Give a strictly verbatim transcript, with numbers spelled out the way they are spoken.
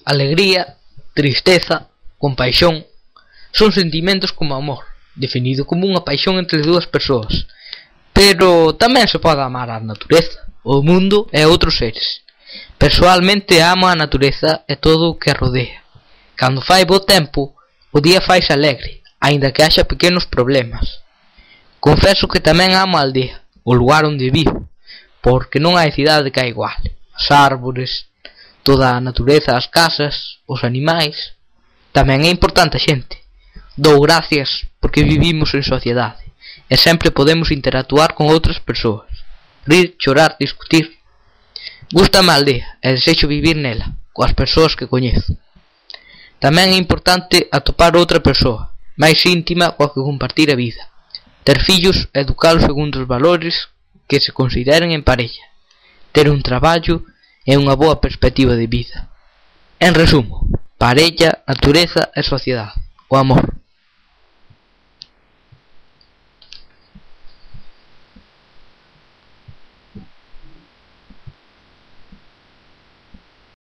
Alegría, tristeza, compaixón son sentimentos como amor, definido como unha paixón entre dúas persoas. Pero tamén se pode amar a natureza, o mundo e outros seres. Persoalmente amo a natureza e todo o que a rodea. Cando fai bo tempo, o día faise alegre, aínda que haxa pequenos problemas. Confeso que tamén amo a aldea, o lugar onde vivo, porque non hai cidade que a iguale. As árbores, toda a natureza, as casas, os animais. Tamén é importante a xente. Dou gracias porque vivimos en sociedade e sempre podemos interactuar con outras persoas, rir, chorar, discutir. Gústame a aldea e desexo vivir nela, coas persoas que coñezo. Tamén é importante atopar outra persoa, máis íntima coa que compartir a vida. Ter fillos e educalos segundo os valores que se consideren en parella. Ter un traballo e unha boa perspectiva de vida. En resumo, parella, natureza e sociedade. O amor.